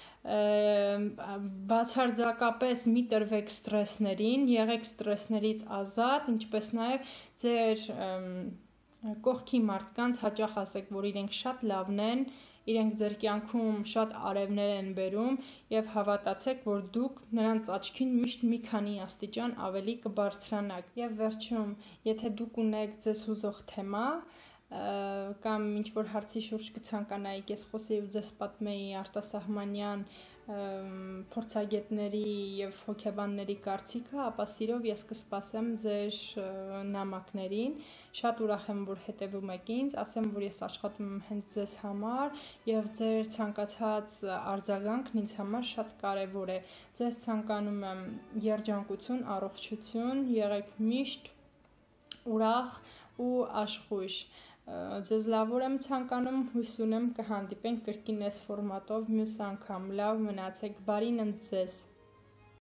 բացարձակապես մի տրվեք ստրեսներին, եղեք ստրեսներից ազատ, ինչպես նաև ձեր կողքի մարդկանց հաճախ ասեք, որ իրենք շատ լավն են, իրենք ձեր կյանքում շատ արևներ են բերում եւ հավատացեք, որ դուք նրանց աչքին միշտ մի քանի աստիճան ավելի կբարձրանաք։ Եվ վերջում, եթե դուք ունեք ձեզ հուզող թեմա կամ ինչ որ հարցի շուրջ կցանկանայիք, ես խոսեի ու ձեզ պատմեի արտասահմանյան փորձագետների եւ հոգեբանների կարծիքը, ապա սիրով ես կսպասեմ ձեր նամակներին։ Շատ ուրախ եմ, որ հետևում եք ինձ, ասեմ, որ ես աշխատում եմ հենց ձեզ համար եւ ձեր ցանկացած արձագանքն ինձ համար շատ կարեւոր է։ Ձեզ ցանկանում եմ երջանկություն, առողջություն, եղեք միշտ ուրախ ու աշխույժ։ Ձեզ լավոր եմ ցանկանում, հույս ունեմ կհանդիպենք կրկին այս ֆորմատով մյուս անգամ։ Լավ մնացեք, բարին ընդ ձեզ։